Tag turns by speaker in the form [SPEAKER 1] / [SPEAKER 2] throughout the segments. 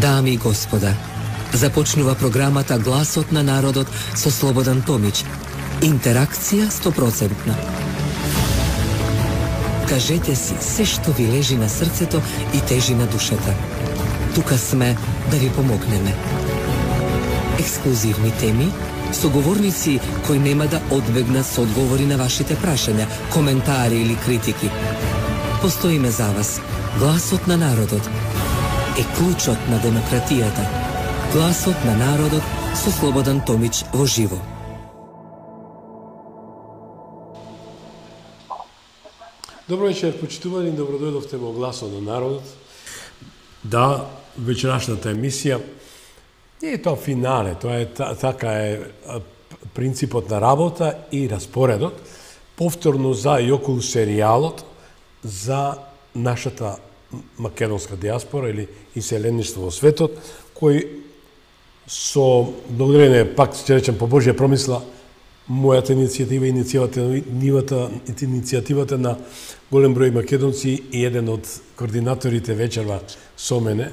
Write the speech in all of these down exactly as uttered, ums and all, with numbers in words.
[SPEAKER 1] Дами и господа, започнува програмата Гласот на народот со Слободан Томич. Интеракција сто проценти. Кажете си се што ви лежи на срцето и тежи на душата. Тука сме да ви помогнеме. Ексклузивни теми, соговорници кои нема да одбегнат со одговори на вашите прашања, коментари или критики. Постоиме за вас. Гласот на народот е клучот на демократијата. Гласот на народот со Слободан Томич во живо.
[SPEAKER 2] Добро вечер, почитувани, добродојдовте во Гласот на народот. Да, вечерашната емисија не е тоа финале, тоа е така е принципот на работа и распоредот, повторно за и околу серијалот за нашата македонска диаспора или иселеништво во светот, кој со благодарение, пак ќе речем по Божја промисла, мојата иницијатива, иницијативата, иницијативата на голем број македонци и еден од координаторите вечерва со мене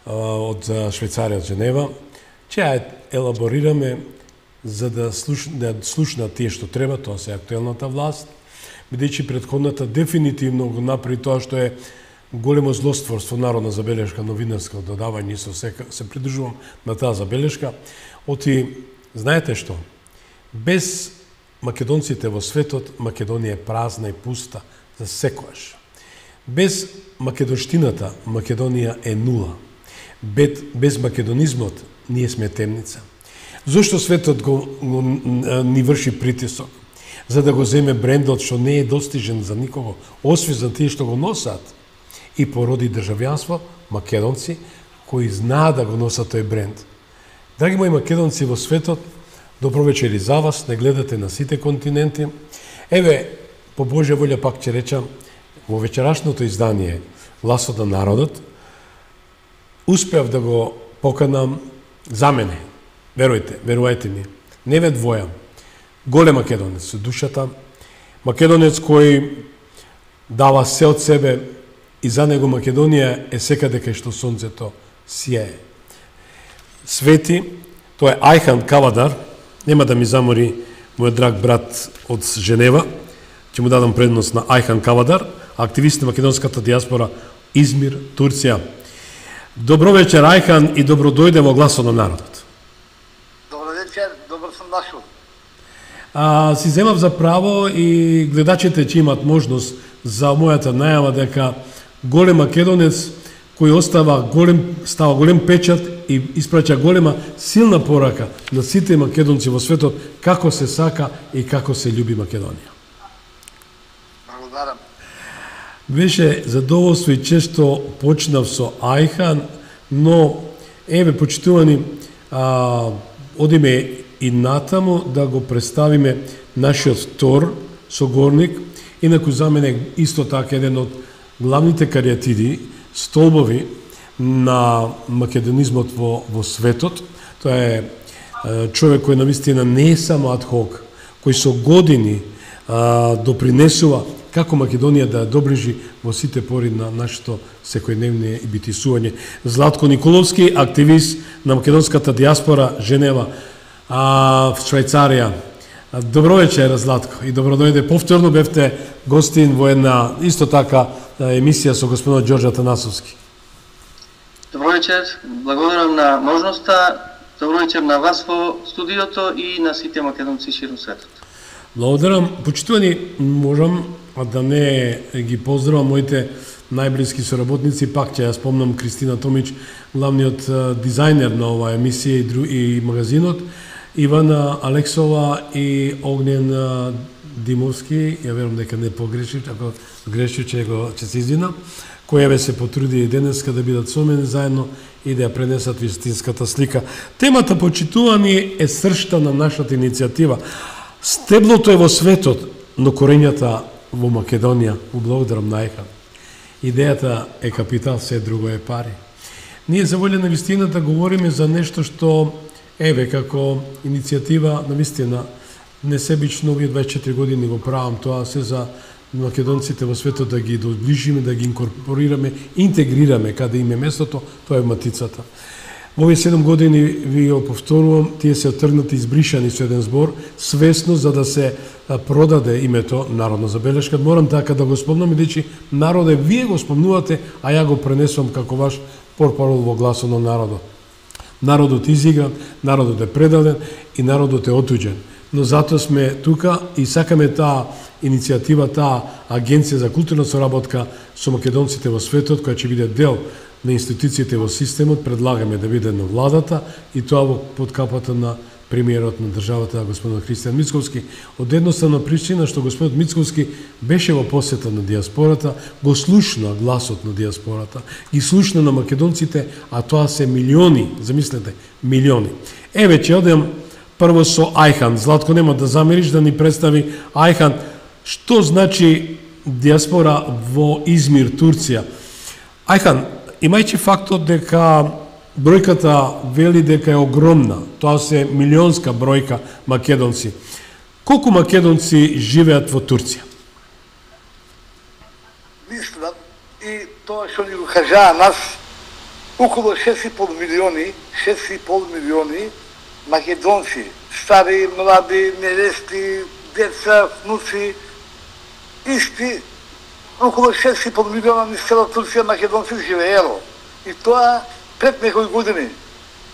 [SPEAKER 2] од Швајцарија, од Женева, ќе ја елаборираме за да, слуш, да слушнат тие што треба, тоа се актуелната власт, бидејќи предходната дефинитивно го направи тоа што е големо злостворство, народна забелешка, новинарско додавање, со сека, се придржувам на таа забелешка. Оти, знаете што? Без македонците во светот, Македонија е празна и пуста за секојаш. Без македонштината, Македонија е нула. Без, без македонизмот, ние сме темница. Зошто светот го, го ни врши притисок? За да го земе брендот што не е достижен за никого, освен за тие што го носат, и породи државјанство, македонци, кои знаат да го носат тој бренд. Драги мои македонци во светот, добро вечер и за вас, не гледате на сите континенти. Еве, по Божја волја пак ќе речам, во вечерашното издание Гласот на народот, успеав да го поканам за мене. Верујте, верувајте ми, не ве двојам. Голем македонец со душата, македонец кој дава се од себе и за него Македонија е секаде кај што сонцето сијае. Свети, тоа е Ајхан Кавадар, нема да ми замори мојот драг брат од Женева, ќе му дадам предност на Ајхан Кавадар, активист на македонската диаспора Измир, Турција. Добро вечер, Ајхан, и добро дојде во Гласот на народот.
[SPEAKER 3] Добро вечер, добро сум дошол.
[SPEAKER 2] А, си земав за право и гледачите ќе имат можност за мојата најава дека голем македонец кој остава голем, става голем печат и испраќа голема силна порака на сите македонци во светот како се сака и како се љуби Македонија.
[SPEAKER 3] Благодарам.
[SPEAKER 2] Беше задоволство и често почнав со Ајхан, но еве почитувани, а, одиме и натаму да го представиме нашиот втор согорник, инаку за мене исто така еден од главните кариатиди, столбови на македонизмот во, во светот. Тоа е, е човек кој навистина не е само адхок, кој со години а, допринесува како Македонија да ја доближи во сите пори на нашето секојдневно битисување. Златко Николовски, активист на македонската диаспора Женева, а, в Швајцарија. Добро вечер, Златко, и добро дојде. Повторно бевте гостин во една исто така емисија со господинот Ѓорѓе Атанасовски.
[SPEAKER 4] Добро вечер, благодарам на можноста. Добро вечер на вас во студиото и на сите македонци широм светот.
[SPEAKER 2] Благодарам. Почитувани, можам да не ги поздравам моите најблиски соработници, пак ќе ја спомнам Кристина Томич, главниот дизајнер на оваа емисија и, дру... и магазинот, Ивана Алексова и Огнен Димовски, ја верувам дека не погрешив, ако грешив ќе го ќе се извинам, која ве се потруди и денеска да бидат со мене заедно и да ја пренесат вистинската слика. Темата, почитувани, е сршта на нашата иницијатива. Стеблото е во светот, но корењата во Македонија. Благодарам на Ајхан. Идејата е капитал, се друго е пари. Ние за волја на вистината говориме за нешто што еве како иницијатива на вистина несебично овие дваесет и четири години го правам тоа, се за македонците во светот, да ги доближиме, да ги инкорпорираме, интегрираме каде им е местото, тоа е матицата. Во овие седум години, ви го повторувам, тие се отргнати, избришани со еден збор, свесно за да се продаде името народна забелешка. Морам така да го спомнам, бидејќи народе, вие го спомнувате, а ја го пренесувам како ваш портпарол во гласот на народот. Народот изигран, народот е предаден и народот е отуѓен. Но затоа сме тука и сакаме таа иницијатива, таа агенција за културна соработка со македонците во светот, која ќе биде дел на институциите во системот, предлагаме да биде на владата и тоа во подкапата на премиерот на државата, господин Христијан Мицковски, од едноставна причина што господин Мицковски беше во посета на диаспората, го слушна гласот на диаспората, ги слушна на македонците, а тоа се милиони, замислете, милиони. Еве ќе одем прво со Ајхан. Златко, нема да замериш да ни представи Ајхан, што значи диаспора во Измир, Турција. Ајхан, имајќи фактот дека бројката вели дека е огромна, тоа се милионска бројка македонци. Колку македонци живеат во Турција?
[SPEAKER 3] Мислам, и тоа што ни го кажаа нас, околу шест и пол милиони, шест и пол милиони македонци, стари, млади, невести, деца, внуци, исти, околу шест и пол милиона низ цела Турција македонци живеело. И тоа пред некои години,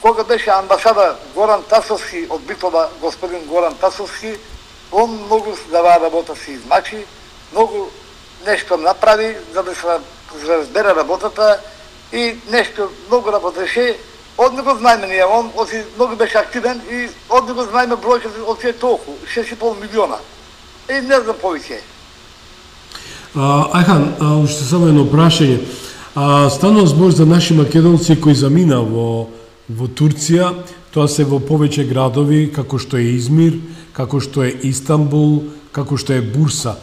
[SPEAKER 3] кога беше амбасада Горан Тасовски од Битола, господин Горан Тасовски, он многу дава работа си измачи, многу нешто направи за да се разбере работата и нешто многу работеше. Од него знаеме ние, он оси многу беше активен и од него знаеме бројката од тие толку, шест и пол милиона. И не знам повеќе.
[SPEAKER 2] Ајхан, уште само едно прашање. Станува збор за наши македонци кои замина во, во Турција, тоа се во повеќе градови, како што е Измир, како што е Истанбул, како што е Бурса.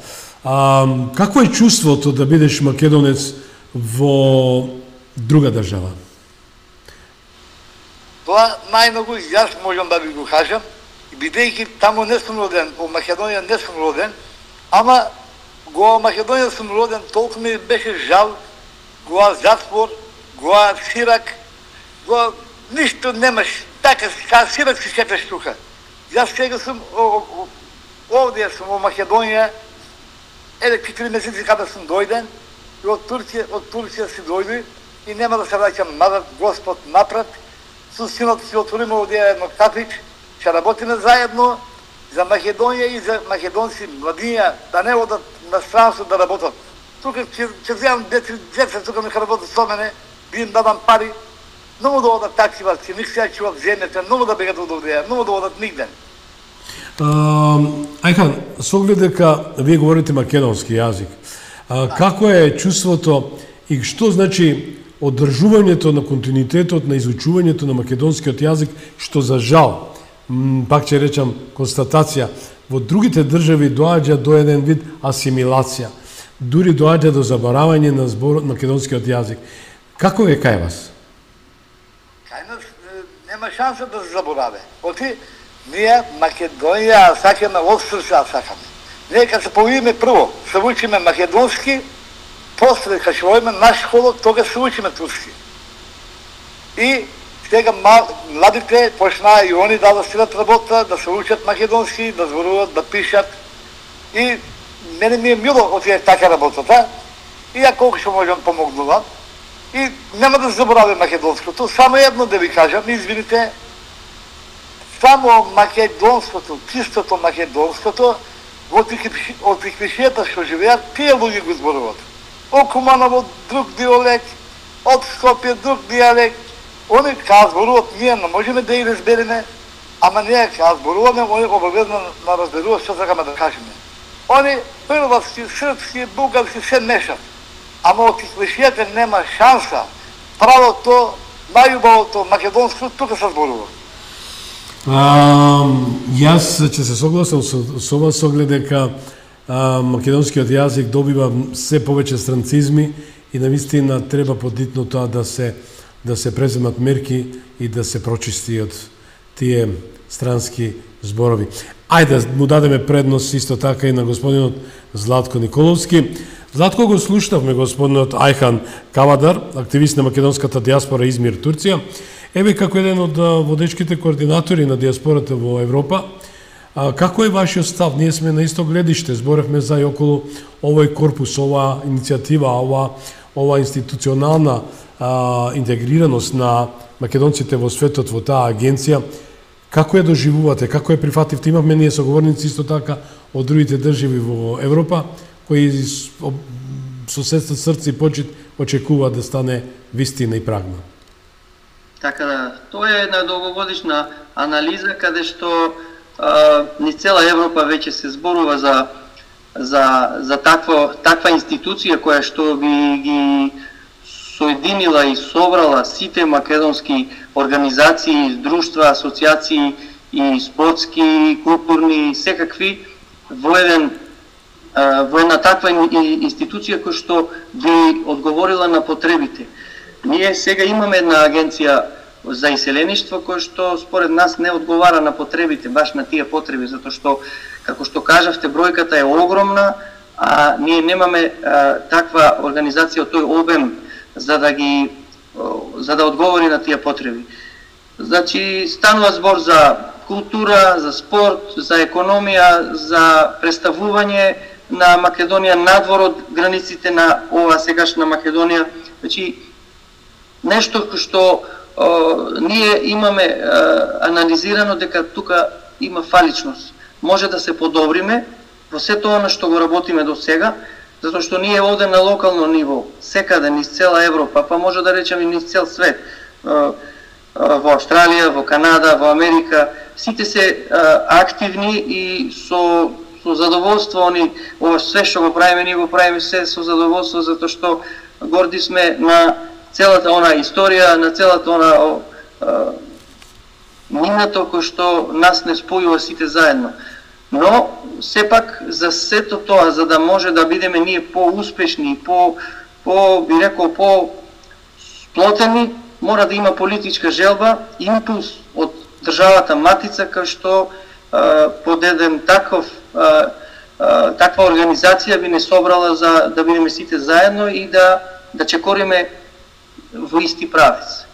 [SPEAKER 2] А, какво е чувството да бидеш македонец во друга држава?
[SPEAKER 3] Тоа најмногу јас можам да ви го кажам, бидејќи таму не сум роден, во Македонија не сум роден, ама го Македонија сум роден, толку ми беше жал, гоа затвор, гоа Сирак, гоа ништо немаш, така ка Сирак си шеташ тука. Јас сега сум овде сум во Македонија, еде четири месеци када сум дојден, и од Турција, од Турција си дојди и нема да се враќам назад, Господ напред. Со синот си отвориме овде едно кафич, ќе работиме заедно за Македонија и за македонци младиња да не одат на странство да работат. Тука ќе ќе земам деца, деца тука ми работат со мене, би им дадам пари, многу да одат такива, ќе ник се чуват земјата, многу да бегат од овде, многу да одат нигде.
[SPEAKER 2] Ајхан, со оглед дека вие говорите македонски јазик, а, како е чувството и што значи одржувањето на континуитетот на изучувањето на македонскиот јазик, што за жал, пак ќе речам констатација, во другите држави доаѓа до еден вид асимилација, дури доаѓа до заборавање на зборот македонскиот јазик. Како е кај вас?
[SPEAKER 3] Кај нас нема шанса да се забораве. Оти, ние Македонија сакаме од срца сакаме. Ние кога се појавиме прво, се учиме македонски, после кога ќе војме наш школа, тога се учиме турски. И сега младите почнаа и они да стилат работа, да се учат македонски, да зборуваат, да пишат. И мене ми е мило од тие така работата. И ја колку што можам помогнувам. И нема да заборавам македонското. Само едно да ви кажам, извините, само македонското, чистото македонското, од тих што живеат, тие луѓе го зборуваат. Од Куманово друг диалект, од Скопје друг диалект. Они кога зборуваат, ние не можеме да ги разбереме, ама ние кога зборуваме, они обавезно да разберуваат што сакаме да кажеме. Они хрватски, српски, бугарски се мешат. Ама од тих нема шанса. Правото, најубавото македонско, тука се зборува.
[SPEAKER 2] А, јас ќе се согласам со, со вас оглед дека а, македонскиот јазик добива се повеќе странцизми и навистина треба подитно тоа да се да се преземат мерки и да се прочисти од тие странски зборови. Ајде му дадеме предност исто така и на господинот Златко Николовски. Златко го слушнавме господинот Ајхан Кавадар, активист на македонската диаспора Измир, Турција. Еве како еден од водечките координатори на диаспората во Европа, како е вашиот став? Ние сме на исто гледиште, зборевме за и околу овој корпус, ова иницијатива, ова, ова институционална а, интегрираност на македонците во светот во таа агенција. Како ја доживувате, како ја прифативте? Имавме ние соговорници исто така од другите држави во Европа, кои со сестра срце и почит очекуваат да стане вистина и прагма.
[SPEAKER 4] Така да, тоа е една долгогодишна анализа каде што а, ни цела Европа веќе се зборува за за за таква таква институција која што ги ги соединила и собрала сите македонски организации, друштва, асоциации и спортски, културни, секакви во еден во една таква институција која што би одговорила на потребите. Ние сега имаме една агенција за иселеништво која што според нас не одговара на потребите, баш на тие потреби, затоа што, како што кажавте, бројката е огромна, а ние немаме а, таква организација од тој обем за да ги за да одговори на тие потреби. Значи станува збор за култура, за спорт, за економија, за представување на Македонија надвор од границите на ова сегашна Македонија. Значи нешто што о, ние имаме о, анализирано дека тука има фаличност. Може да се подобриме во сето она што го работиме до сега, затоа што ние овде на локално ниво, секаде низ цела Европа, па може да речеме низ цел свет, во Австралија, во Канада, во Америка, сите се активни и со со задоволство они ова све што го правиме, ние го правиме се со задоволство затоа што горди сме на целата она историја, на целата она минато кој што нас не спојува сите заедно. Но сепак за сето тоа, за да може да бидеме ние поуспешни, по по би рекол по сплотени, мора да има политичка желба, импулс од државата матица кај што а, под еден таков а, а, таква организација би не собрала за да бидеме сите заедно и да да чекориме во исти правец.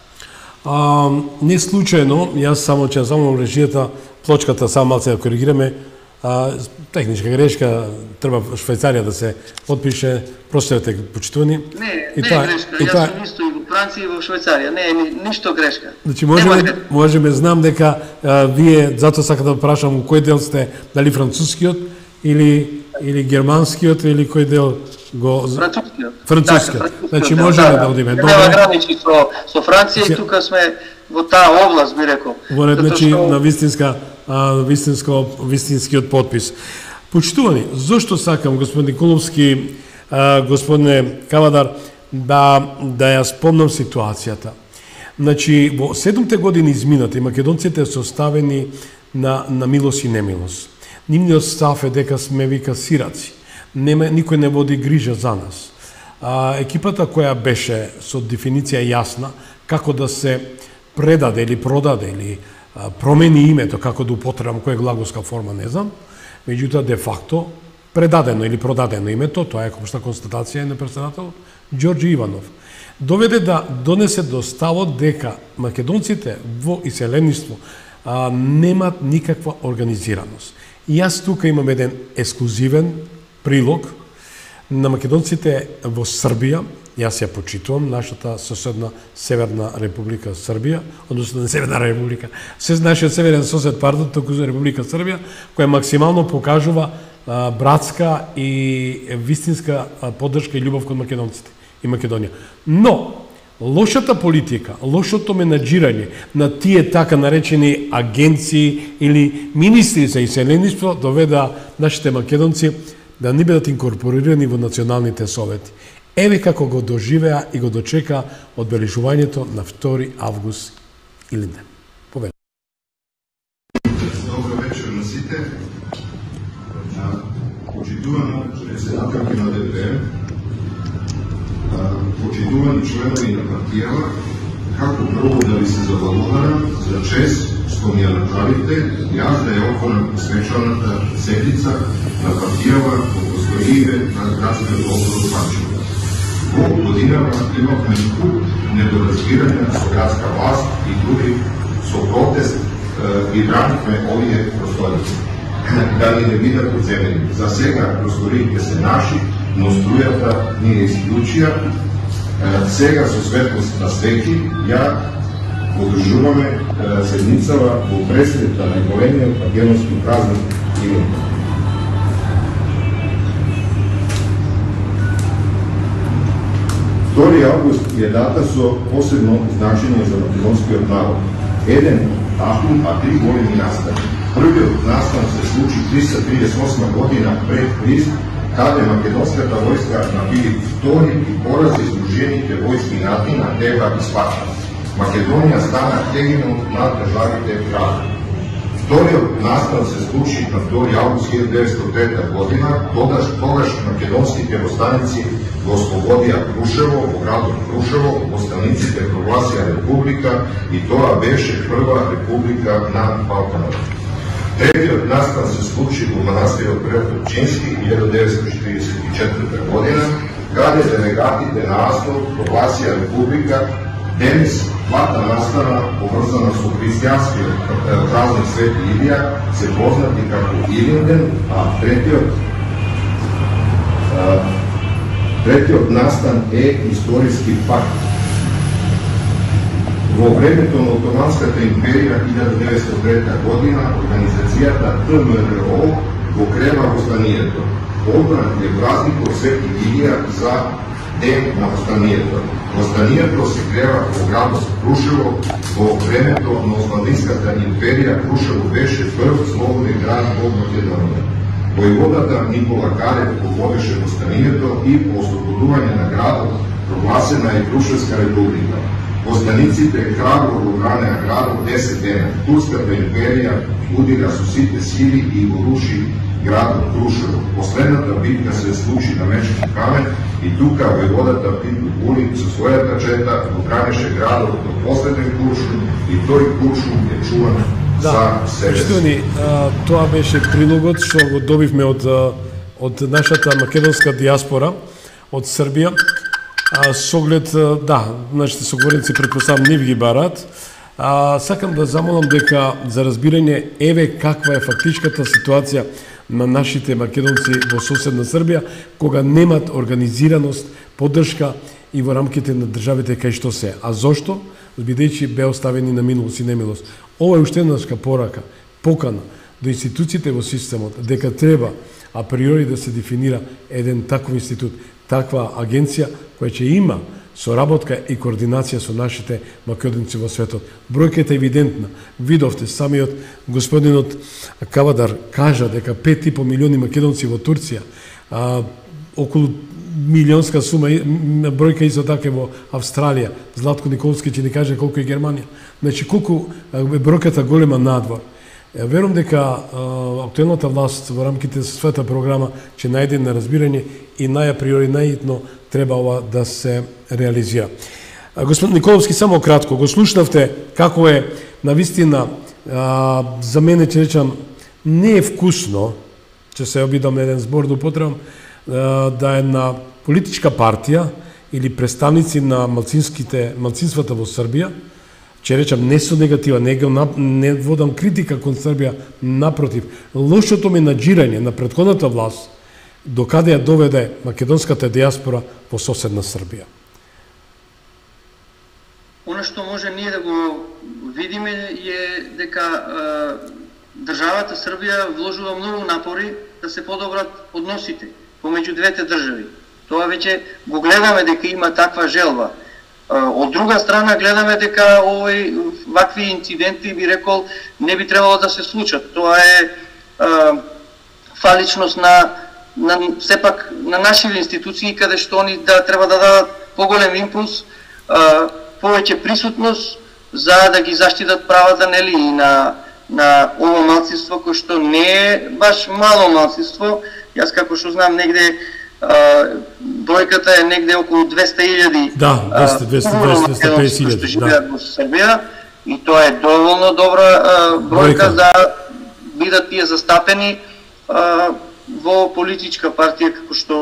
[SPEAKER 2] А, не случајно, јас само ќе замолам режијата, плочката само малце да коригираме. А, техничка грешка, треба Швајцарија да се подпише, простите почитувани.
[SPEAKER 4] Не, и не тоа, е грешка, јас тоа... сум исто и во Франција и во Швајцарија, не е ни, ништо грешка.
[SPEAKER 2] Значи можеме, можеме знам дека а, вие, затоа сакам да прашам кој дел сте, дали францускиот или или германскиот или кој дел го
[SPEAKER 4] францускиот.
[SPEAKER 2] Францускиот. Да, значи можеме да, да одиме.
[SPEAKER 4] Добро. Нема граничи со со Франција и тука сме во таа област, би рекол.
[SPEAKER 2] Во ред, значи што... на вистинска а, вистинско вистинскиот подпис. Почитувани, зошто сакам господин Николовски, а, господине Кавадар, да да ја спомнам ситуацијата. Значи во седумте години изминати македонците се оставени на на милост и немилост. Нивниот став е дека сме вика сираци. Нема, никој не води грижа за нас. А, екипата која беше со дефиниција јасна како да се предаде или продаде или а, промени името, како да употребам која глаголска форма, не знам, меѓутоа де факто предадено или продадено името, тоа е општа констатација на председател Ѓорѓе Иванов, доведе да донесе до ставот дека македонците во иселеништво а, немат никаква организираност. И јас тука имам еден ексклузивен прилог на македонците во Србија. Јас ја почитувам нашата соседна Северна Република Србија, односно не Северна Република, се нашиот северен сосед, пардон, току за Република Србија, која максимално покажува а, братска и вистинска а, поддршка и љубов кон македонците и Македонија. Но лошата политика, лошото менаџирање на тие така наречени агенции или министри за иселеништво доведа нашите македонци да не бидат инкорпорирани во националните совети. Еве како го доживеа и го дочека одбележувањето на втори август или не. Повеле.
[SPEAKER 5] Добро вечер на сите. Почитувани председателки на Д П, почитувани членови на партијава, како прво да ви се заблагодарам за чест што ми ја направите, јас да ја отворам свечаната седница на партијава во просториите на градскиот округ Панчево. Во годинава имавме куп недоразбирање со градска власт и други со протест и бранихме овие простори. Да ни не бидат одземени. За сега просториите се наши, но струјата ни е исклучија. Сега со светлост на свеќи, ја одржуваме седницава во пресред на најголемиот македонски празник Илинден. втори август е дата со посебно значење за македонскиот народ. Еден такун, а три големи настани. Првиот настан се случи триста триесет и осма година пред Христ, каде македонската војска на Филип втори и порази издружените војски на Атина, Теба и Спарта. Македонија стана хегемон над државите гради. Вториот настан се случи на втори август илјадесетстотини деветдесет и трета година, тогаш, тогаш македонските востаници го ослободија Крушево, во градот Крушево, востаниците прогласија република и тоа беше прва република на Балканот. Третиот настан се случи во манастирот Преотопчински илјада деветстотини четиридесет и четврта година, каде делегатите на Астол прогласија република. Денес двата настана, поврзана со христијанскиот празник Свети Илија, се познати како Илинден, а третиот а, третиот настан е историски факт. Во времето на Отоманската империја илјада деветстотини и трета година, организацијата Т М Р О го крена востанието. Одбран е празникот Свети Илија за ден на востанието. Востанието се крeva во градот Крушево. Во времето на Османлиската империја Крушево беше прв слободен град во Македонија. Војводата Никола Карев го водеше востанието и по ослободување на градот прогласена е Крушевска република. Востаниците храбро го бранеа градот десет дена. Турската империја удира со сите сили и го руши градот Крушево. Последната битка се случи на Мечки камен и тука војводата Пипо Кулин со својата чета го бранеше градот до последен куршум и тој куршум е чуван
[SPEAKER 2] да, за себе. Почитувани, тоа беше прилогот што го добивме од, од нашата македонска диаспора, од Србија. А, с оглед, да, нашите соговорници претпоставам нив ги барат. А, сакам да замолам дека за разбирање еве каква е фактичката ситуација на нашите македонци во соседна Србија, кога немат организираност, поддршка и во рамките на државите кај што се. А зошто? Бидејќи бе оставени на минулост и немилост. Ова е уште една порака, покана до институциите во системот, дека треба априори да се дефинира еден таков институт, таква агенција која ќе има соработка и координација со нашите македонци во светот. Бројката е евидентна. Видовте, самиот господинот Кавадар кажа дека пет и по милиони македонци во Турција, а, околу милионска сума, бројка исто така во Австралија. Златко Николски ќе ни каже колку е Германија. Значи, колку е бројката голема надвор. Верувам дека актуелната власт во рамките со својата програма ќе најде на разбирање и најаприори најитно треба ова да се реализира. Господин Николовски, само кратко, го слушнавте како е навистина, за мене ќе речам, не е вкусно, ќе се обидам на еден збор да употребам, да е на политичка партија или представници на малцинските, малцинствата во Србија, ќе речам, не со негатива, не, не водам критика кон Србија, напротив, лошото ми наџирање на претходната власт, докаде ја доведе македонската диаспора во соседна Србија.
[SPEAKER 4] Оно што може ние да го видиме е дека е, државата Србија вложува многу напори да се подобрат односите помеѓу двете држави. Тоа веќе го гледаме дека има таква желба. Од друга страна гледаме дека овој вакви инциденти, би рекол, не би требало да се случат. Тоа е, е фаличност на на сепак на нашите институции, каде што они да треба да дадат поголем импулс, а, повеќе присутност за да ги заштитат правата, нели, и на на ово малцинство кој што не е баш мало малцинство. Јас како што знам негде а, бројката е негде околу двесте илјади.
[SPEAKER 2] Да, двесте, двесте, двесте, двесте петдесет илјади,
[SPEAKER 4] што живеат во Србија и тоа е доволно добра бројка за бидат тие застапени а, во политичка партија како што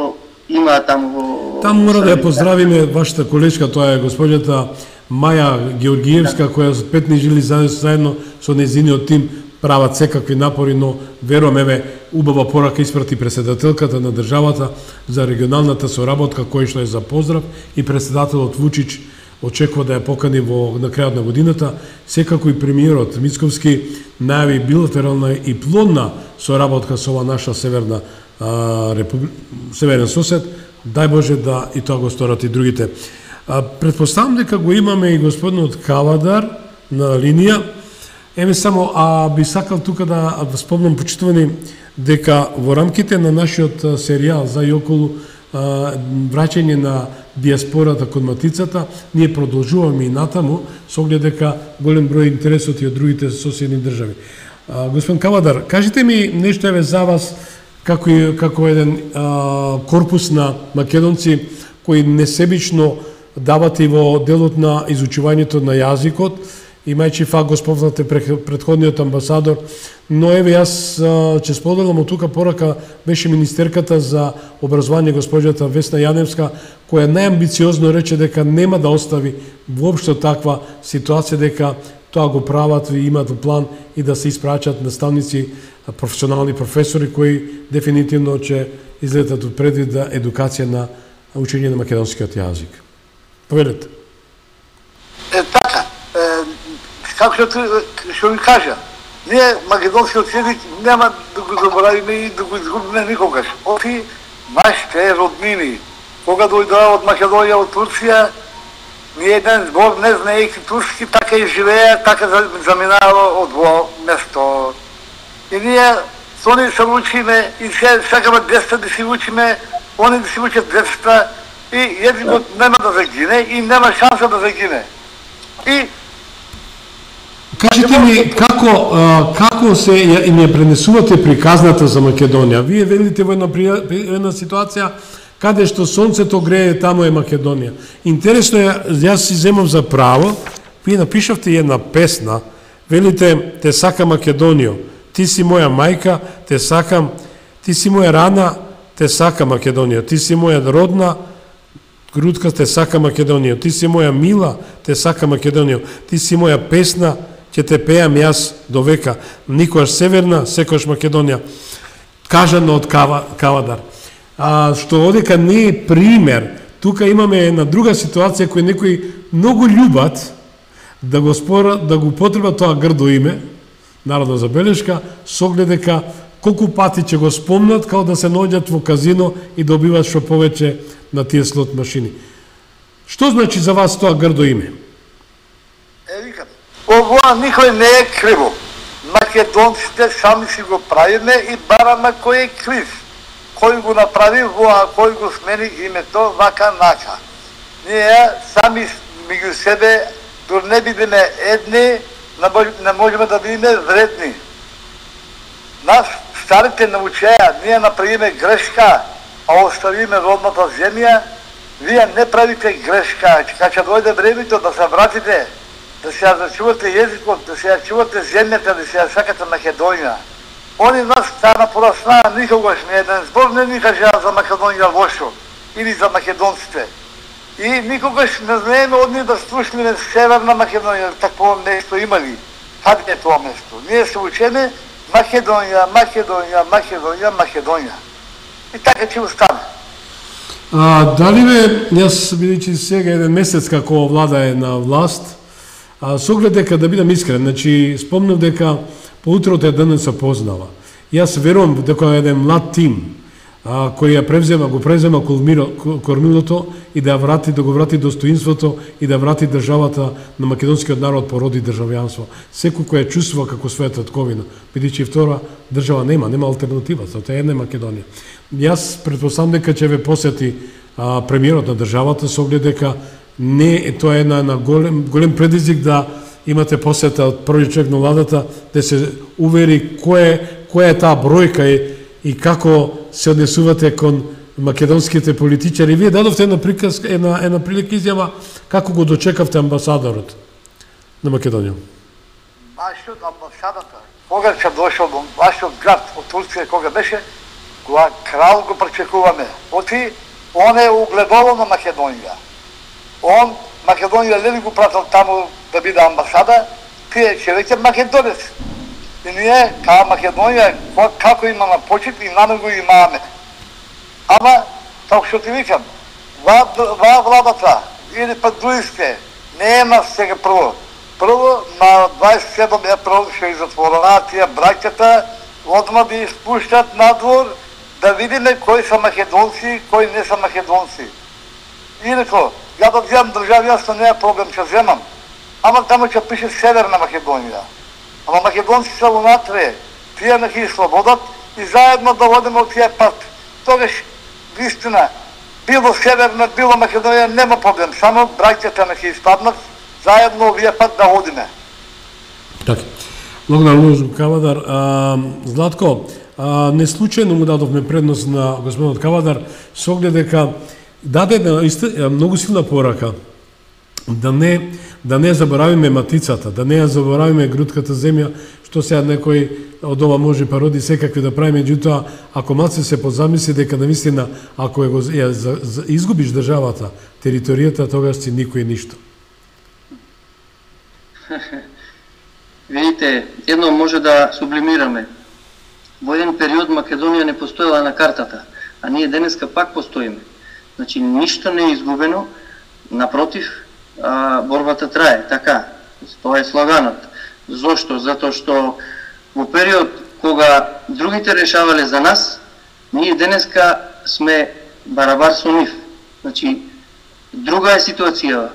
[SPEAKER 4] има таму во...
[SPEAKER 2] Таму мора да ја поздравиме вашата колешка, тоа е госпоѓата Маја Георгиевска, која за пет жили заедно со нејзиниот тим прават секакви напори, но верувам, еве, убава порака испрати председателката на државата за регионалната соработка, кој што е за поздрав, и председателот Вучич очекува да ја покани во на крајот на годината. Секако и премиерот Мицковски најави билатерална и плодна соработка со ова наша северна а, републи... северен сосед. Дај Боже да и тоа го сторат и другите. А, предпоставам дека го имаме и господинот Кавадар на линија. Еве само, а би сакал тука да спомнам, почитувани, дека во рамките на нашиот серијал за и околу а, враќање на диаспората кон матицата, ние продолжуваме и натаму, со оглед дека голем број интересот и од другите соседни држави. А, господин Кавадар, кажете ми нешто еве за вас, како, како еден а, корпус на македонци кои несебично давате и во делот на изучувањето на јазикот, имајќи факт го спомнате претходниот амбасадор, но еве јас ќе споделам од тука порака беше министерката за образование госпоѓата Весна Јаневска, која најамбициозно рече дека нема да остави воопшто таква ситуација, дека тоа го прават и имаат план и да се испраќат наставници, професионални професори кои дефинитивно ќе излетат од предвид за едукација на учење на македонскиот јазик. Повелете.
[SPEAKER 3] Е, така, е, како што, што ви кажа, ние македонскиот јазик нема да го заборавиме и да го изгубиме никогаш. Оти нашите роднини, кога дојдоа од Македонија, од Турција, ни еден збор не знаејќи турски, така и живеа, така заминава од во место. И ние со они се учиме и се сакаме деца да си учиме, они да си учат децата, и јазикот нема да загине и нема шанса да загине. И
[SPEAKER 2] кажете ми како како се и не пренесувате приказната за Македонија? Вие велите во една една ситуација каде што сонцето грее, таму е Македонија. Интересно е, јас си земам за право, вие напишавте една песна, велите те сакам Македонијо, ти си моја мајка, те сакам, ти си моја рана, те сакам Македонија, ти си моја родна грудка, те сакам Македонија, ти си моја мила, те сакам Македонија, ти си моја песна, ќе те пеам јас до века, никогаш северна, секогаш Македонија. Кажано од Кава, Кавадар. А, што одека не е пример, тука имаме една друга ситуација која некои многу љубат да го спора, да го потреба тоа грдо име, народна забелешка, со оглед дека колку пати ќе го спомнат као да се наоѓат во казино и добиват што повеќе на тие слот машини. Што значи за вас тоа грдо име?
[SPEAKER 3] Е, викам, ова никој не е криво. Македонците сами си го правиме и бараме кој е крив. Кој го направи воа, кој го смени името, вака нака. Ние сами меѓу себе, дори не бидеме едни, не можеме да бидеме вредни. Нас старите научеа, ние направиме грешка, а оставиме родната земја, вие не правите грешка, така ќе дојде времето да се вратите, да се ја зачувате јазикот, да се ја чувате земјата, да се ја сакате Македонија. Они нас стана пораснаа, никогаш не еден збор не ни кажа за Македонија лошо, или за македонците. И никогаш не знаеме од нив да слушнеме Северна Македонија, такво нешто имали. Каде е тоа место? Ние се учеме Македонија, Македонија, Македонија, Македонија. И така ќе остане.
[SPEAKER 2] А, дали бе, јас бидејќи сега еден месец како влада е на власт, а, со оглед дека да бидам искрен, значи спомнав дека по утрото е денес се познава. Јас верувам дека е еден млад тим а, кој ја превзема, го превзема кормилото и да врати, да го врати достоинството и да врати државата на македонскиот народ по род и државјанство. Секој кој ја чувствува како своја татковина, бидејќи втора држава нема, нема алтернатива, тоа е една Македонија. Јас претпоставам дека ќе ве посети а, премиерот на државата со оглед дека не тоа е една, една голем, голем предизвик да имате посета од први човек на владата, да се увери кој која е таа бројка и, и како се однесувате кон македонските политичари. Вие дадовте една приказка, една, една прилика изјава како го дочекавте амбасадорот на Македонија.
[SPEAKER 3] Вашиот амбасадата, кога ќе дошол во вашиот град од Турција, кога беше, кога крал го пречекуваме. Оти, он е угледало на Македонија. Он, Македонија лели го пратил таму да биде амбасада, тие ќе веќе македонец. И ние, као Македонија, како имаме почит и наме го имаме. Ама, така што ти викам, ва владата, или па другите, нема сега прво. Прво, на дваесет и седум април ќе затворена тие браќата, одма да испуштат надвор, да видиме кои са македонци, кои не са македонци. Инако, ја да вземам држави, јас не е проблем, ќе вземам. Ама таму ќе пише Северна Македонија. Ама македонци са унатре, тие не ги слободат и заедно да водиме од тие пат. Тогаш, вистина, било Северна, било Македонија, нема проблем, само браќата не ќе испаднат, заедно овие пат да одиме.
[SPEAKER 2] Така. Благодарам, Лозу Кавадар. А, Златко, а, не случајно му дадовме предност на господинот Кавадар, со оглед дека даде една многу силна порака да не да не заборавиме матицата, да не ја заборавиме грутката земја, што сега некој од ова може пароди секакви да прави, меѓутоа ако малце се позамисли дека навистина ако е го ја, за, за, изгубиш државата, територијата, тогаш си никој ништо.
[SPEAKER 4] Видите, едно може да сублимираме. Во еден период Македонија не постоела на картата, а ние денеска пак постоиме. Значи, ништо не е изгубено, напротив, а, борбата трае, така. Тоа е слаганот. Зошто? Затоа што во период кога другите решавале за нас, ние денеска сме барабар со нив. Значи, друга е ситуацијава.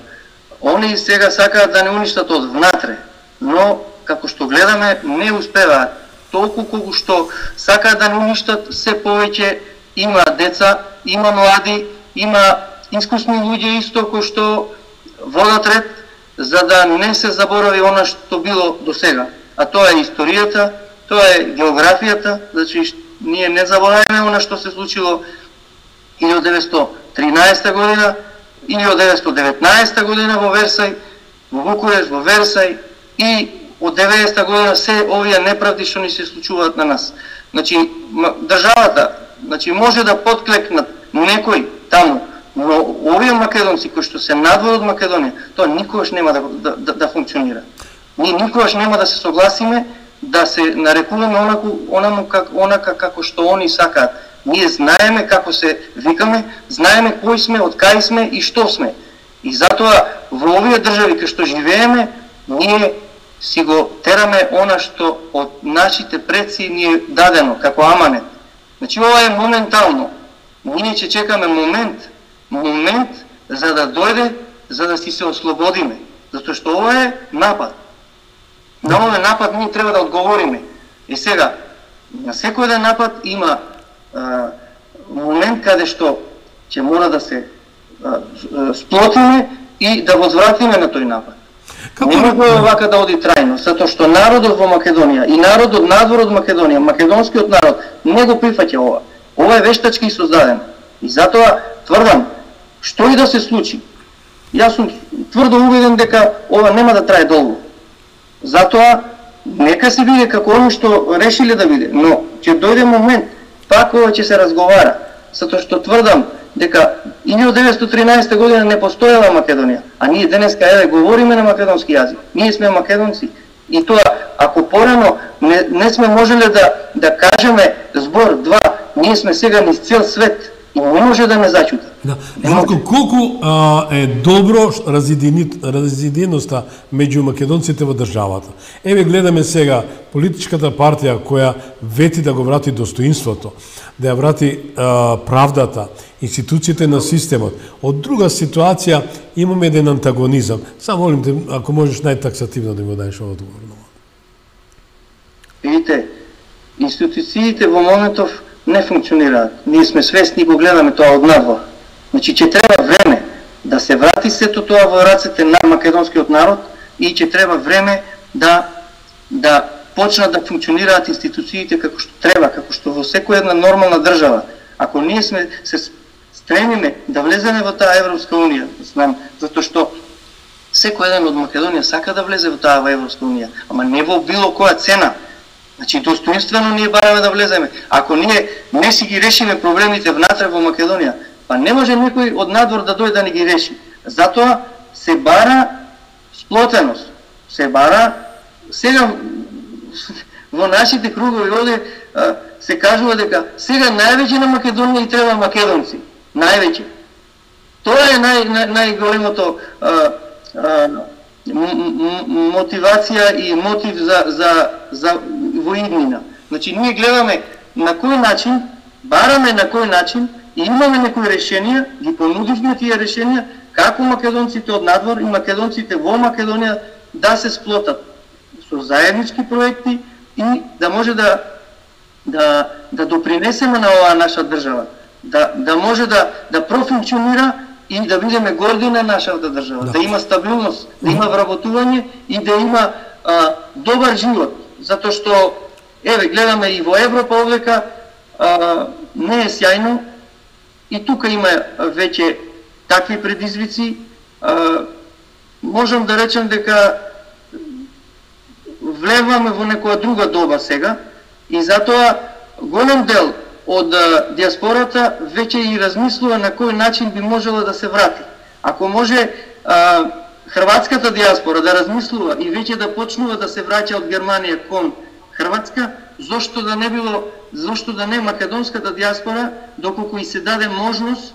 [SPEAKER 4] Они сега сакаат да не уништат од внатре, но како што гледаме не успеваат. Толку колку што сакаат да не уништат, се повеќе има деца, има млади, има искусни луѓе исто кои што водат ред за да не се заборави она што било до сега. А тоа е историјата, тоа е географијата, значи ние не забораваме она што се случило илјадесетстотини и тринаесета година, илјадесетстотини и деветнаесета година во Версај, во Букуреш, во Версај и од деветдесета година се овие неправди што ни се случуваат на нас. Значи државата, значи може да подклекнат некој таму, но овие македонци кои што се надвор од Македонија, тоа никогаш нема да, да, да, да функционира. Ние никогаш нема да се согласиме да се нарекуваме онаку, онаку, как, онака како што они сакаат. Ние знаеме како се викаме, знаеме кои сме, од кај сме и што сме. И затоа во овие држави кај што живееме, ние си го тераме она што од нашите предци ни е дадено како аманет. Значи ова е моментално. Ние ќе чекаме момент, момент за да дојде, за да си се ослободиме. Затоа што ова е напад. На овој напад ние треба да одговориме. И сега, на секој еден напад има а, момент каде што ќе мора да се а, сплотиме и да возвратиме на тој напад. Како... Не може овака да оди трајно, затоа што народот во Македонија и народот надвор од Македонија, македонскиот народ, не го прифаќа ова. Ова е вештачки создадено. И затоа тврдам, што и да се случи, јас сум тврдо убеден дека ова нема да трае долго. Затоа, нека се биде како оно што решиле да биде, но ќе дојде момент, пак ова ќе се разговара, затоа што тврдам дека илјадесетстотини и тринаесета година не постоела Македонија, а ние денеска еве говориме на македонски јазик. Ние сме македонци. И тоа, ако порано не, не сме можеле да, да кажеме збор два, ние сме сега низ цел свет и не може да не зачута.
[SPEAKER 2] Да. Златко, колку а, е добро разединеноста меѓу македонците во државата. Еве гледаме сега политичката партија која вети да го врати достоинството, да ја врати а, правдата, институциите на системот. Од друга ситуација имаме еден антагонизам. Само молим те, ако можеш најтаксативно да ми дадеш одговор.
[SPEAKER 4] Видите, институциите во моментов не функционираат. Ние сме свесни и го гледаме тоа од надвор. Значи, ќе треба време да се врати сето тоа во рацете на македонскиот народ и ќе треба време да да почнат да функционираат институциите како што треба, како што во секоја една нормална држава. Ако ние сме се стремиме да влеземе во таа Европска унија, знам, затоа што секој еден од Македонија сака да влезе во таа во Европска унија, ама не во било која цена. Значи, достоинствено ние бараме да влеземе. Ако ние не си ги решиме проблемите внатре во Македонија, па не може некој од надвор да дојде да не ги реши. Затоа се бара сплотеност, се бара, сега во нашите кругови оде се кажува дека сега највеќе на Македонија и треба македонци, највеќе. Тоа е нај, нај, најголемото мотивација и мотив за, за, за воиднина. Значи, ние гледаме на кој начин, бараме на кој начин и имаме некои решенија, ги понудивме тие решенија, како македонците од надвор и македонците во Македонија да се сплотат со заеднички проекти и да може да да да допринесеме на оваа наша држава, да да може да да профункционира и да бидеме горди на нашата држава, да, да има стабилност, да има вработување и да има а, добар живот, затоа што еве гледаме и во Европа овдека а, не е сјајно и тука има веќе такви предизвици. А, можам да речем дека влеваме во некоја друга доба сега и затоа голем дел од диаспората веќе и размислува на кој начин би можела да се врати. Ако може а, хрватската диаспора да размислува и веќе да почнува да се враќа од Германија кон Хрватска, зошто да не било, зошто да не македонската диаспора, доколку и се даде можност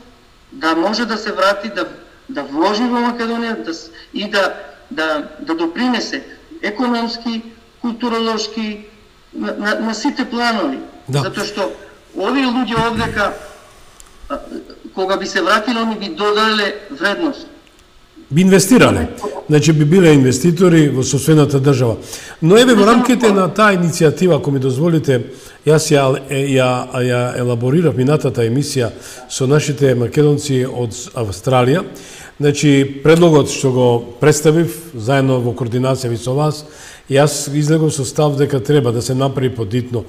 [SPEAKER 4] да може да се врати, да да вложи во Македонија да, и да да да допринесе економски, културолошки на, на, на сите планови. Да. Затоа што овие луѓе овдека кога би се вратиле, они би додале вредност.
[SPEAKER 2] Би инвестирале. Значи би биле инвеститори во сопствената држава. Но еве во рамките на таа иницијатива, ако ми дозволите, јас ја, ја, ја елаборирав минатата емисија со нашите македонци од Австралија. Значи, предлогот што го представив, заедно во координација со вас, јас излегов со став дека треба да се направи подитно,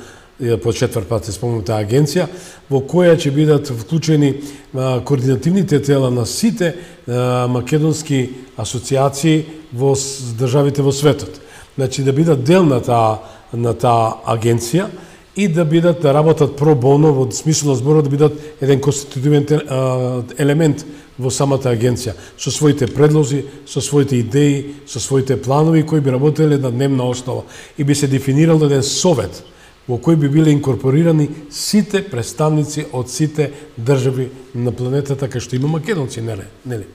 [SPEAKER 2] по четврт пат се спомнута агенција, во која ќе бидат вклучени а, координативните тела на сите а, македонски асоциации во државите во светот. Значи, да бидат дел на таа на таа агенција и да бидат да работат про боно во смисла зборот да бидат еден конститутивен елемент во самата агенција, со своите предлози, со своите идеи, со своите планови кои би работеле на дневна основа и би се дефинирал еден совет во кој би биле инкорпорирани сите представници од сите држави на планетата кај што има македонци, нели? Нели?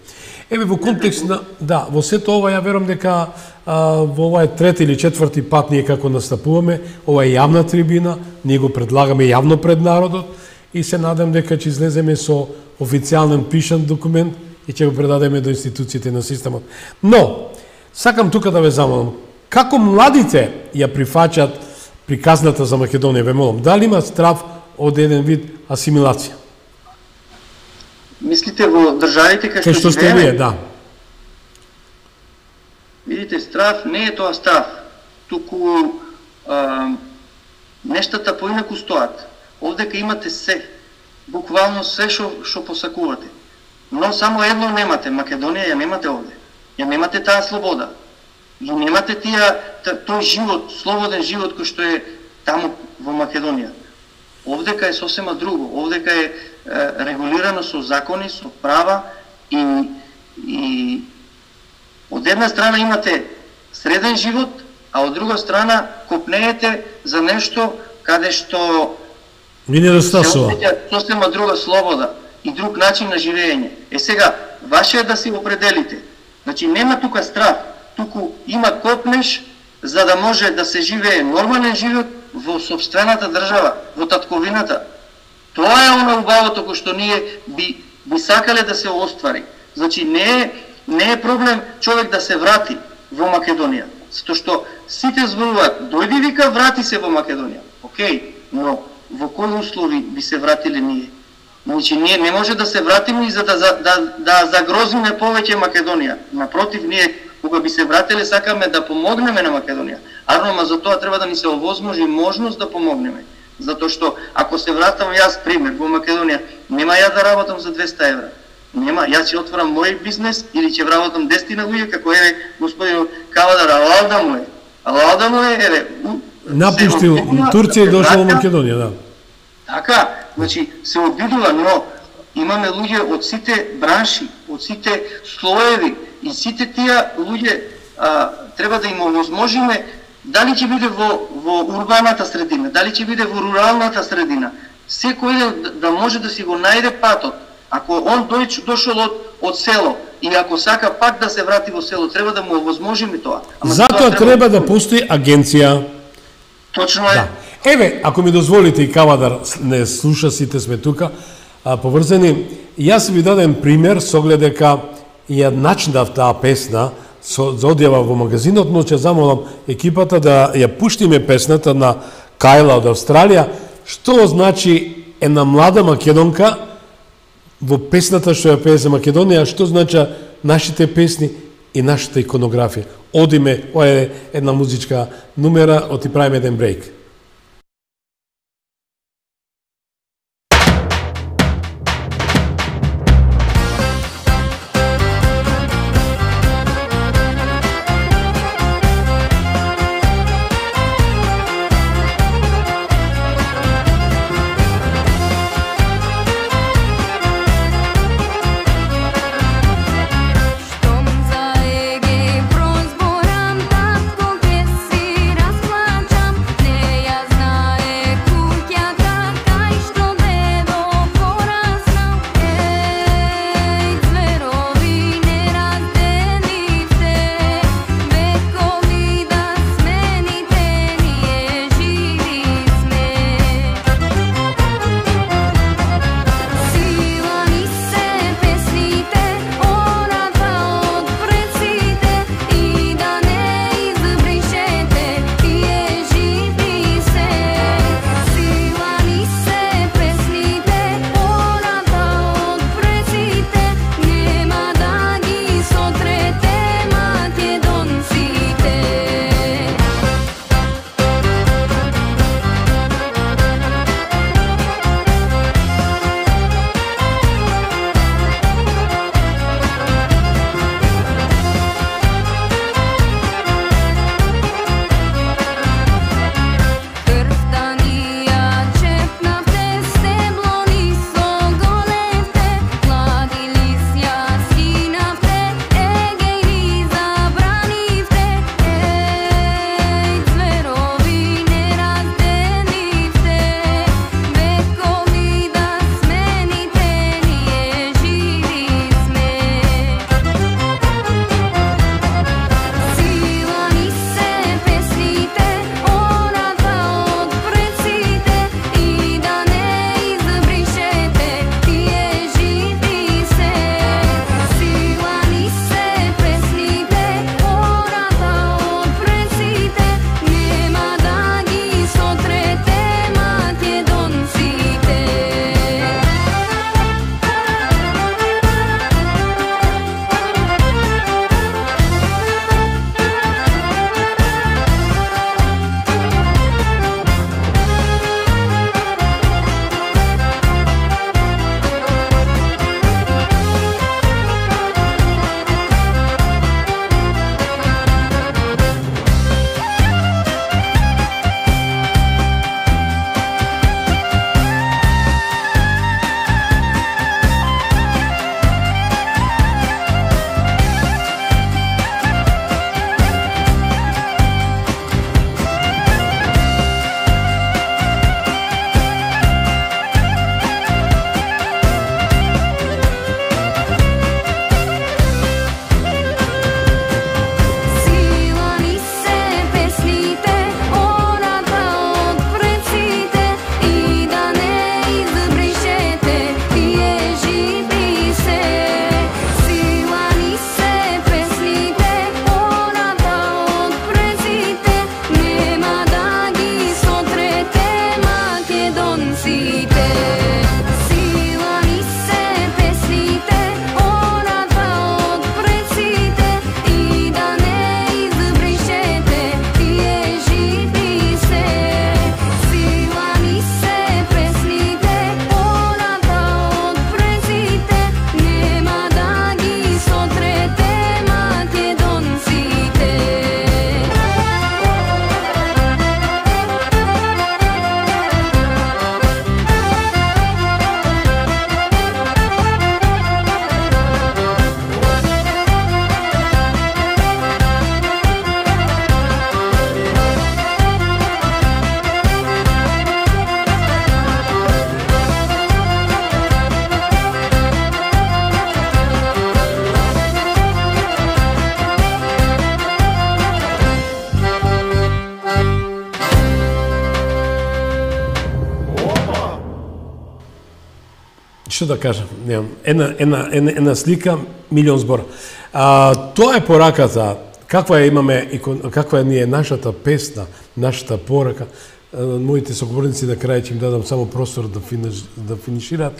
[SPEAKER 2] Еве во контекст на да, во сето ова ја верувам дека а, во ова е трети или четврти пат ние како настапуваме, ова е јавна трибина, ние го предлагаме јавно пред народот и се надам дека ќе излеземе со официјален пишан документ и ќе го предадеме до институциите на системот. Но сакам тука да ве замолам, како младите ја прифаќаат приказната за Македонија, ве молам, дали има страв од еден вид асимилација?
[SPEAKER 4] Мислите во државите кај
[SPEAKER 2] што сте вие, да.
[SPEAKER 4] Видите, страв не е тоа страв, туку а, нештата поинаку стоат. Овдека имате се, буквално се што што посакувате. Но само едно немате, Македонија ја немате овде. Ја немате таа слобода. И немате тие тој живот, слободен живот кој што е таму во Македонија. Овдека е сосема друго. Овдека е, е регулирано со закони, со права и и од една страна имате среден живот, а од друга страна копнеете за нешто каде што
[SPEAKER 2] ви недостасува
[SPEAKER 4] сосема друга слобода и друг начин на живење. Е сега, ваше е да си определите. Значи нема тука страх, туку има копнеш за да може да се живее нормален живот во сопствената држава, во татковината. Тоа е она убавото кој што ние би, би сакале да се оствари. Значи не е, не е проблем човек да се врати во Македонија, затоа што сите зборуваат, дојди вика врати се во Македонија. Океј, но во кои услови би се вратиле ние? Значи ние не може да се вратиме и за да, да, да загрозиме повеќе Македонија. Напротив, ние кога би се вратиле сакаме да помогнеме на Македонија. Арно, за тоа треба да ни се овозможи можност да помогнеме. Затоа што ако се вратам јас пример во Македонија, нема ја да работам за двеста евра. Нема, јас ќе отворам мој бизнес или ќе вработам десетина луѓе како е господин Кавадар, алалда му е. Алалда му е, еве,
[SPEAKER 2] напуштил Турција и дошол во Македонија, да.
[SPEAKER 4] Така, значи се обидува, но имаме луѓе од сите бранши, од сите слоеви и сите тие луѓе а, треба да им овозможиме дали ќе биде во, во урбаната средина, дали ќе биде во руралната средина. Секој да, да може да си го најде патот. Ако он дојч, дошол од, од село и ако сака пак да се врати во село, треба да му овозможиме тоа.
[SPEAKER 2] Ама затоа треба, треба да постои агенција.
[SPEAKER 4] Точно е.
[SPEAKER 2] Да. Еве, ако ми дозволите и Кавадар не слуша, сите сме тука, а, поврзани, јас ви дадем пример со оглед дека ја начнав таа песна со, за одјава во магазинот, но ќе замолам екипата да ја пуштиме песната на Кајла од Австралија, што значи една млада македонка во песната што ја пее за Македонија, што значи нашите песни и нашата иконографија. Одиме, ова е една музичка нумера, оти правиме еден брейк.
[SPEAKER 6] Prozboram tako gdje si rasplačam, ne
[SPEAKER 2] што да кажам, немам, една, една, една, една слика, милион збора. А, тоа е пораката, каква е имаме, каква е ни е нашата песна, нашата порака. Моите соговорници на крај ќе им дадам само простор да, финиш, да финишираат,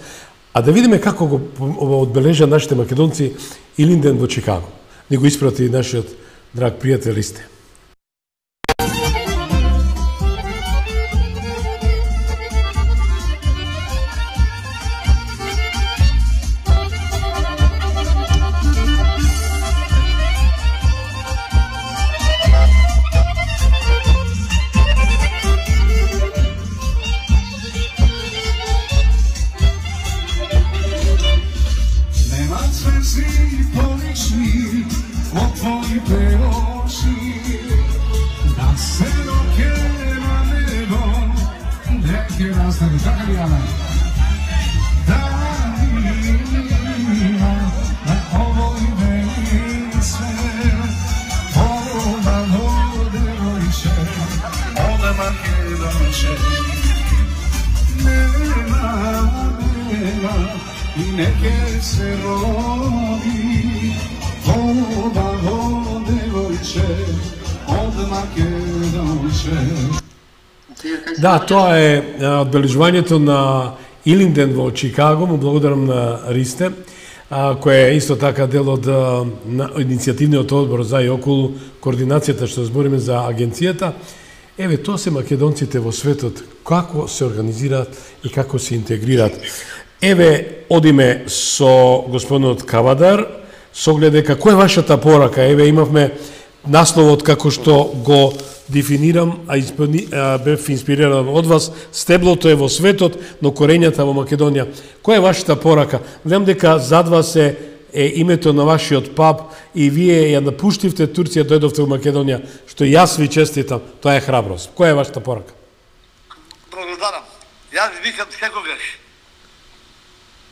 [SPEAKER 2] а да видиме како го одбележа нашите македонци Илинден во Чикаго. Ни го испрати нашиот драг пријател Ристе. Да, тоа е одбележувањето на Илинден во Чикаго, му благодарам на Ристе, кој е исто така дел од иницијативниот одбор за и околу координацијата што збориме за агенцијата. Еве, тоа се македонците во светот, како се организираат и како се интегрираат. Еве, одиме со господинот Кавадар, со оглед дека кој е вашата порака? Еве, имавме насловот како што го дефинирам, а, испани, а бев инспириран од вас, стеблото е во светот, но корењата во Македонија. Која е вашата порака? Знам дека зад вас е, е името на вашиот пап и вие ја напуштивте Турција, дојдовте во Македонија, што јас ви честитам, тоа е храброст. Која е вашата порака?
[SPEAKER 3] Благодарам. Јас викам секогаш,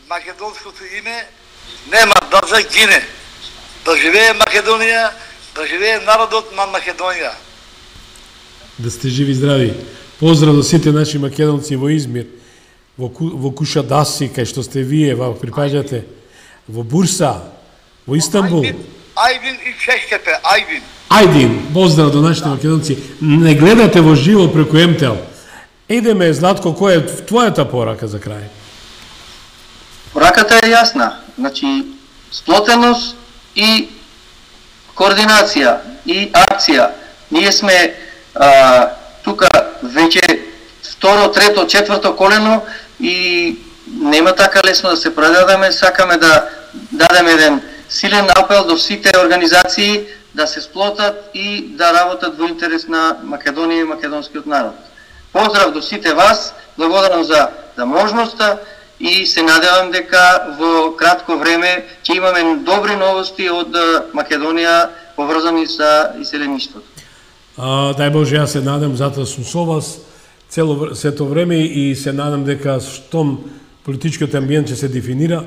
[SPEAKER 3] македонското име нема да загине. Да живее Македонија, да живее народот на Македонија.
[SPEAKER 2] Да сте живи и здрави. Поздрав до сите наши македонци во Измир, во, во Кушадаси, кај што сте вие, во припаѓате, во Бурса, во Истанбул.
[SPEAKER 3] Ајдин и Чешкепе, Ајдин.
[SPEAKER 2] Ајдин, поздрав до нашите македонци. Не гледате во живо преку Ем Те Ел. Едеме, Златко, која е твојата порака за крај?
[SPEAKER 4] Пораката е јасна. Значи, сплотеност и координација и акција. Ние сме а, тука веќе второ, трето, четврто колено и нема така лесно да се предадеме. Сакаме да дадеме еден силен апел до сите организации да се сплотат и да работат во интерес на Македонија и македонскиот народ. Поздрав до сите вас, благодарам за, за можноста и се надевам дека во кратко време ќе имаме добри новости од Македонија поврзани со иселеништвото.
[SPEAKER 2] А, дај Боже, јас се надам, затоа сум со вас цело сето време и се надам дека штом политичкиот амбиент ќе се дефинира,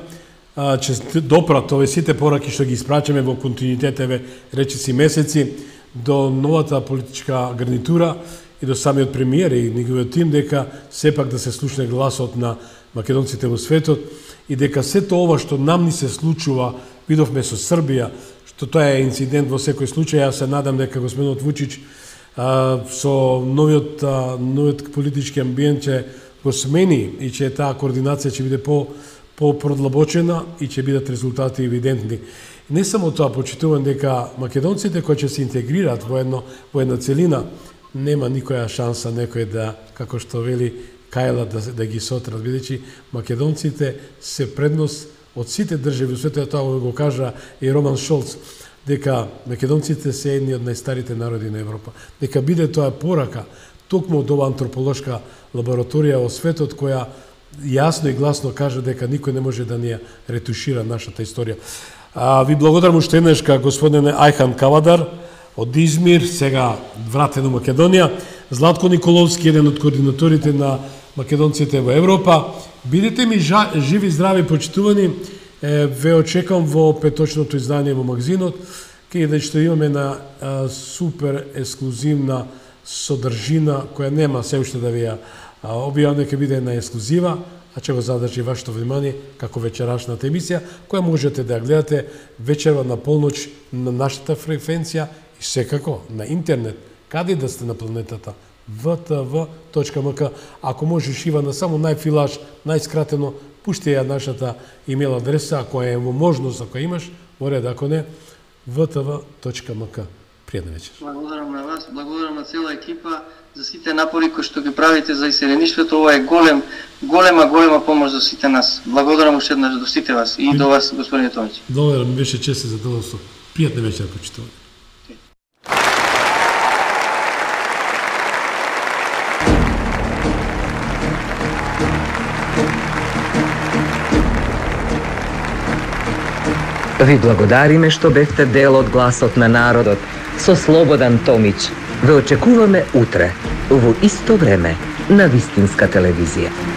[SPEAKER 2] а, ќе допрат овие сите пораки што ги испрачаме во континуитет, еве речиси месеци, до новата политичка гарнитура и до самиот премиер и неговиот тим, дека сепак да се слушне гласот на македонците во светот и дека сето ова што нам ни се случува, видовме со Србија, што тоа е инцидент во секој случај, јас се надам дека господинот Вучич а, со новиот, а, новиот политички амбиент ќе го смени и че таа координација ќе биде по по-продлабочена и ќе бидат резултати евидентни. И не само тоа, почитувам дека македонците кои ќе се интегрираат во едно во една целина, нема никоја шанса некој да, како што вели Кајла, да, да ги сотрат, бидејќи македонците се предност од сите држави во светот, тоа го кажа и Роман Шолц, дека македонците се едни од најстарите народи на Европа. Дека биде тоа порака токму од оваа антрополошка лабораторија во светот која јасно и гласно кажа дека никој не може да ни ја ретушира нашата историја. А, ви благодарам уште еднаш ка господине Ајхан Кавадар од Измир, сега вратен во Македонија, Златко Николовски, еден од координаторите на македонците во Европа. Бидете ми жа, живи, здрави, почитувани. Е, ве очекам во петочното издание во магазинот, каде што имаме на а, супер ексклузивна содржина која нема се уште да ви ја објавам, дека биде на ексклузива, а ќе го задржи вашето внимание како вечерашната емисија, која можете да ја гледате вечерва на полноќ на нашата фреквенција и секако на интернет, каде да сте на планетата, в т в точка м к. Ако можеш, Ивана, само најфилаш, најскратено, пушти ја нашата имейл адреса, ако е можност, ако имаш, море да, ако не, в т в точка м к. Пријатна вечер.
[SPEAKER 4] Благодарам на вас, благодарам на цела екипа за сите напори кои што ги правите за иселеништвото. Ова е голем, голема, голема помош за сите нас. Благодарам уште еднаш до сите вас и до вас, господине Томич.
[SPEAKER 2] Благодарам, беше чест и задоволство. Пријатна вечер, почитувани.
[SPEAKER 1] Ви благодариме што бевте дел од гласот на народот со Слободан Томич. Ве очекуваме утре, во исто време, на Вистинска телевизија.